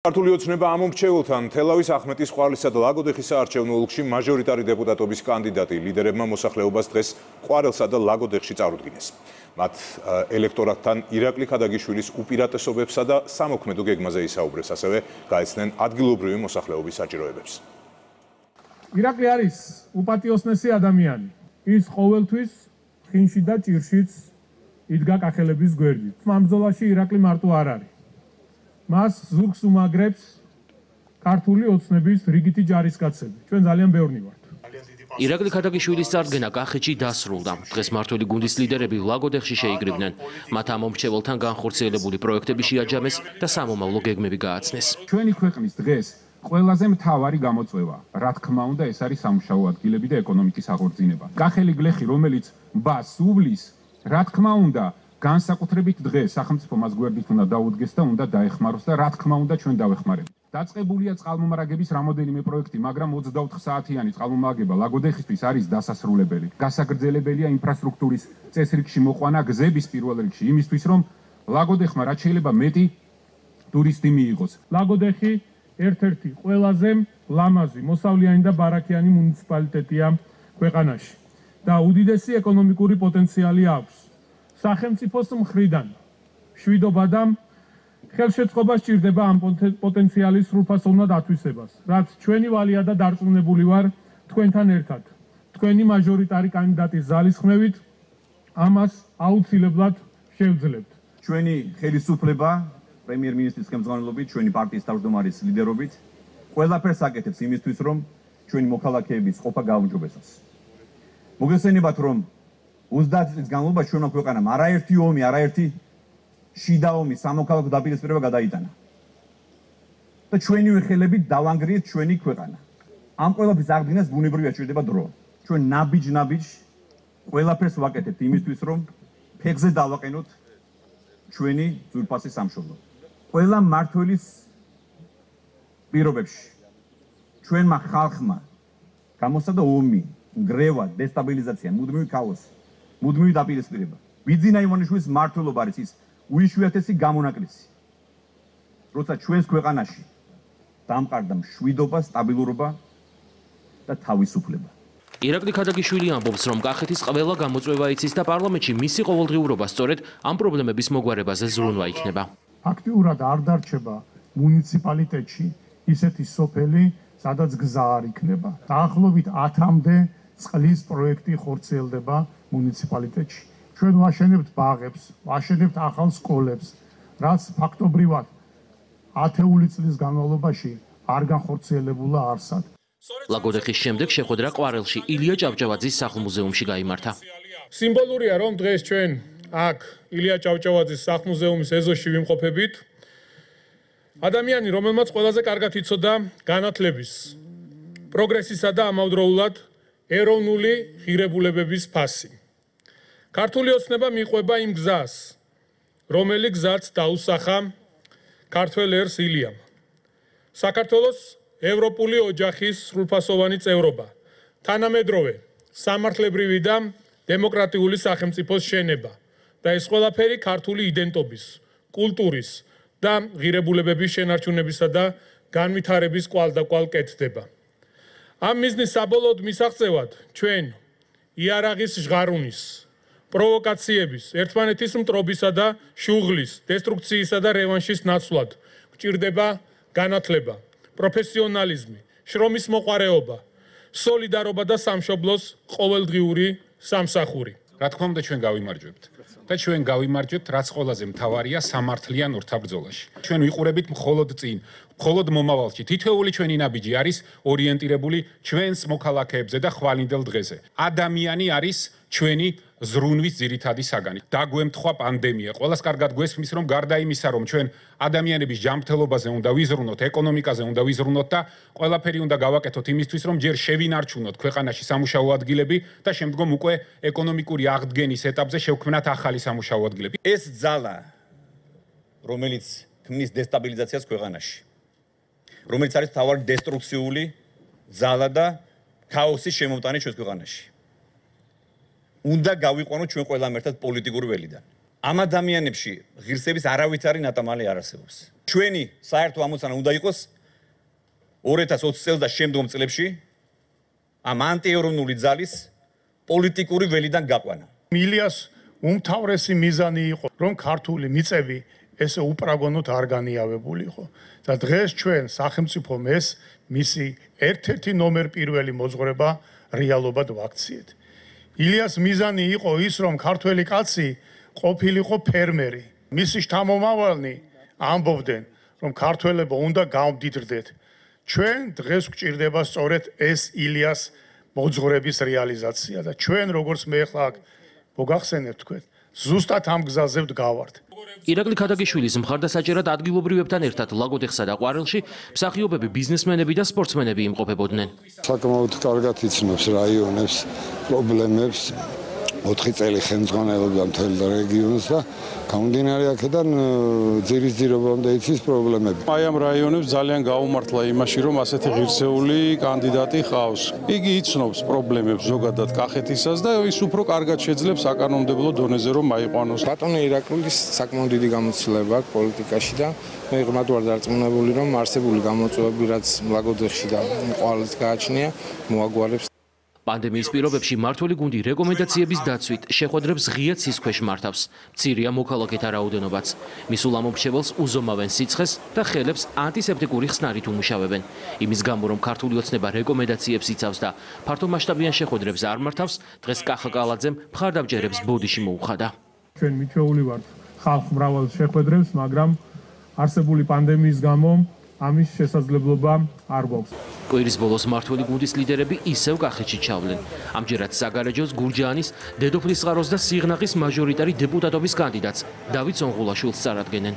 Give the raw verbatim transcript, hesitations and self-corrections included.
ქართული ოცნება ამ მომრჩეველთან თელავის ახმეტის ყვარლისა და ლაგოდეხის საარჩევნო ოლქში მაჟორიტარი დეპუტატობის კანდიდატი ლიდერებმა მოსახლეობას დღეს ყვარელსა და ლაგოდეხში წარუდგინეს. მათ ელექტორატთან ირაკლი ქადაგიშვილის უპირატესობებსა და სამოქმედო გეგმაზე ისაუბრეს, ასევე გაეცნენ ადგილობრივი მოსახლეობის საჭიროებებს. ირაკლი არის უპატიოსნესი ადამიანი. ის ყოველთვის ხინში და ჭირშიც იდგა კახელების გვერდით. ამ ბრძოლაში ირაკლი მარტო არ არის. მას ზურგს უმაგრებს ქართული ოცნების რიგითი ჯარისკაცები. ჩვენ ძალიან ბევრნი ვართ. ირაკლი ქადაგიშვილის წარდგენა კახეთში დასრულდა. დღეს მმართველი გუნდის ლიდერები ლაგოდეხში შეიკრიბნენ. მათ ამ მომრჩეველთან განხორციელებული პროექტები შეაჯამეს და სამომავლო გეგმები გააცნეს. ჩვენი ქვეყნის დღეს ყველაზე მთავარი გამოწვევა, რა თქმა უნდა, ეს არის სამუშაო ადგილები და ეკონომიკის აღორძინება. კახელი გლეხი, რომელიც ბას უვლის, რა თქმა უნდა, განსაკუთრებით დღეს სახელმწიფო მას გვერდით უნდა დაუდგეს და უნდა დაეხმაროს და რა თქმა უნდა ჩვენ დავეხმარებით. დაწყებულია წყალმომარაგების რამოდენიმე პროექტი, მაგრამ ოცდაოთხ საათიანი წყალმომარაგება ლაგოდეხისთვის არის დასასრულებელი. გასაგრძელებელია ინფრასტრუქტურის წესრიგში მოყვანა გზების პირველ რიგში, იმისთვის რომ ლაგოდეხმა რაც შეიძლება მეტი ტურისტი მიიღოს. ლაგოდეხი ერთ-ერთი ყველაზე ლამაზი, მოსავლიანი და ბარაკიანი მუნიციპალიტეტია ქვეყანაში და უდიდესი ეკონომიკური პოტენციალი აქვს. სახელმწიფოს მხრიდან შვიდობა და ხელშეწყობა სჭირდება ამ პოტენციალის სრულფასოვნად ათვისებას, რაც ჩვენი ვალია და დარწმუნებული ვარ თქვენთან ერთად. თქვენი მაჟორიტარი კანდიდატის ძალისხმევით ამას აუცილებლად შევძლებთ. ჩვენი ხელისუფლება პრემიერ-მინისტრის ხელმძღვანელობით, ჩვენი პარტიის თავმჯდომარის ლიდერობით ყველაფერს აკეთებს იმისთვის, რომ ჩვენი მოქალაქეების ყოფა გააუმჯობესოს. მოგესალმებათ, რომ ოცდაათი წლის განმავლობაში ჩვენმა ქვეყანამ არაერთი ომი, არაერთი შიდა ომი სამოქალაქო დაპირისპირება გადაიტანა. და ჩვენივე ხელებით დავანგრიეთ ჩვენი ქვეყანა. ამ ყველაფრის აღდგენას ბუნებრივია სჭირდება დრო. ჩვენ ნაბიჯ-ნაბიჯ ყველაფერს ვაკეთებთ იმისთვის, რომ ფეხზე დავაყენოთ ჩვენი ძვირფასი სამშობლო. ყველა მმართველის პირობებში ჩვენმა ხალხმა გამოსცადა ომი, ნგრევა, დესტაბილიზაცია, მუდმივი ქაოსი. მუდმივი დაპირისპირება. ბიძინა ივანიშვილის მმართველობა არის ის უიშვიათესი გამონაკლისი. როცა ჩვენს ქვეყანაში დამყარდა მშვიდობა, სტაბილურობა და თავისუფლება. ირაკლი ქადაგიშვილი ამბობს, რომ კახეთის ყველა გამოწვევა იცის და პარლამენტში მისი ყოველდღიურობა სწორედ ამ პრობლემების მოგვარებაზე ზრუნვა იქნება. აქტიურად არ დარჩება მუნიციპალიტეტში ისეთი სოფელი, სადაც გზა არ იქნება. დაახლოებით ათამდე წყლის პროექტი ხორციელდება მუნიციპალიტეტში. ჩვენ ვაშენებთ ბაღებს, ვაშენებთ ახალ სკოლებს, რაც ფაქტობრივად ათეული წლის განმავლობაში არ განხორციელებულა არსად. ლაგოდეხის შემდეგ შეხვედრა ყვარელში ილია ჭავჭავაძის სახლ-მუზეუმში გაიმართა. სიმბოლურია, რომ დღეს ჩვენ აქ ილია ჭავჭავაძის სახლ-მუზეუმის ეზოში ვიმყოფებით. ადამიანი, რომელმაც ყველაზე კარგად იცოდა განათლების, პროგრესისა და ამავდროულად ეროვნული ღირებულებების ფასი. ქართული ოცნება მიყვება იმ გზას, რომელი გზაც დაუსახა ქართველ ერს ილიამ. საქართველოს ევროპული ოჯახის სრულფასოვანი წევრობა, თანამედროვე სამართლებრივი და დემოკრატიული სახელმწიფოს შენება და ეს ყველაფერი ქართული იდენტობის, კულტურის და ღირებულებების შენარჩუნებისა და განვითარების კვალდაკვალ კეთდება. ამ მიზნის საბოლოოდ მისაღწევად ჩვენ იარაღის ჟღარუნის, პროვოკაციების, ერთმანეთის მტრობისა და შუღლის, დესტრუქციისა და რევანშის ნაცვლად გვჭირდება განათლება, პროფესიონალიზმი, შრომის მოყვარეობა, სოლიდარობა და სამშობლოს ყოველდღიური სამსახური. რა თქმა უნდა, ჩვენ გავიმარჯვებთ. და ჩვენ გავიმარჯვებთ, რაც ყველაზე მთავარია სამართლიან ორთაბრძოლაში. ჩვენ ვიყურებით მხოლოდ წინ, მხოლოდ მომავალში. თითოეული ჩვენი ნაბიჯი არის ორიენტირებული ჩვენს მოქალაქეებზე და ხვალინდელ დღეზე. ადამიანი არის ჩვენი ზრუნვის ძირითადი საგანი. დაგვემთხვა პანდემია. ყველას კარგად გვესმის, რომ გარდა იმისა, რომ ჩვენ ადამიანების ჯანმრთელობაზე უნდა ვიზრუნოთ, ეკონომიკაზე უნდა ვიზრუნოთ და ყველაფერი უნდა გავაკეთოთ იმისთვის, რომ ჯერ შევინარჩუნოთ ქვეყანაში სამუშაო ადგილები და შემდგომ უკვე ეკონომიკური აღდგენის ეტაპზე შევქმნათ ახალი სამუშაო ადგილები. ეს ძალა, რომელიც ქმნის დესტაბილიზაციას ქვეყანაში, რომელიც არის თავარი დესტრუქციული ძალა და ქაოსის შემომტანი ჩვენს ქვეყანაში. უნდა გავიყვანოთ ჩვენ ყველამ ერთად პოლიტიკური ველიდან. ამ ადამიანებში ღირსების არავითარი ნატამალი არ არსებობს. ჩვენი საერთო ამოცანა უნდა იყოს ორი ათას ოცი წელს და შემდგომ წლებში ამ ანტიეროვნული ძალის პოლიტიკური ველიდან გაყვანა. ილიას უმთავრესი მიზანი იყო, რომ ქართული მიწები ესე უპრაგონოდ არ განიავებული იყო. და დღეს ჩვენ სახელმწიფომ ეს მისი ერთ-ერთი ნომერ პირველი მოძღვრება რეალობად ვაქციეთ. ილიას მიზანი იყო ის, რომ ქართველი კაცი ყოფილიყო ფერმერი. მისი შთამომავალნი ამბობდნენ, რომ ქართველებო უნდა გავმდიდრდეთ. ჩვენ დღეს გვჭირდება სწორედ ეს ილიას მოძღვრების რეალიზაცია და ჩვენ როგორც მე ახლა მოგახსენებთ თქვენ, ზუსტად ამ გზაზე ვდგავართ. ირაკლი ქადაგიშვილის მხარდასაჭერად ადგილობრივებთან ერთად ლაგოდეხსა და ყვარელში მსახიობები, ბიზნესმენები და სპორტსმენები იმყოფებოდნენ. საკმაოდ კარგად იცნობს რაიონებს, პრობლემებს, ოთხი წელი ხელმძღვანელობდა მთელ რეგიონს და გამომდინარე აქედან ძირისძირობამდე იცის პრობლემები. აი ამ რაიონებს ძალიან გაუმართლა იმაში, რომ ასეთი ღირსეული კანდიდატი ყავს. იგი იცნობს პრობლემებს ზოგადად კახეთისას და ის უფრო კარგად შეძლებს საკანონმდებლო დონეზე რომ აიყვანოს. ბატონი ირაკლის საკმაოდ დიდი გამოცდილება აქვს პოლიტიკაში და მე ღრმად ვარ დარწმუნებული, რომ არსებული გამოწვევები, რაც ლაგოდეხში და ყვარელს გააჩნია, მოაგვარებს. პანდემიის პირობებში მმართველი გუნდი რეკომენდაციების დაცვით შეხვედრებს ღია ცის ქვეშ მართავს. მცირეა მოქალაქეთა რაოდენობაც. მისულ ამომრჩეველს უზომავენ სიცხეს და ხელებს ანტისეპტიკური ხსნარით უმუშავებენ. იმის გამო, რომ ქართული ოცნება რეკომენდაციებს იცავს და ფართომასშტაბიან შეხვედრებს არ მართავს, დღეს კახა კალაძემ მხარდამჭერებს ბოდიში მოუხადა. ჩვენ მიჩვეული ვართ ხალხ მრავალ შეხვედრებს, მაგრამ არსებული პანდემიის გამო ამის შესაძლებლობა არ გვაქვს. კვირის ბოლოს მმართველი გუნდის ლიდერები ისევ კახეთში ჩავლენ. ამჯერად საგარეჯოს, გურჯაანის, დედოფლისწყაროს და სიღნაღის მაჟორიტარი დეპუტატობის კანდიდატს დავით სონღულაშვილს წარადგენენ.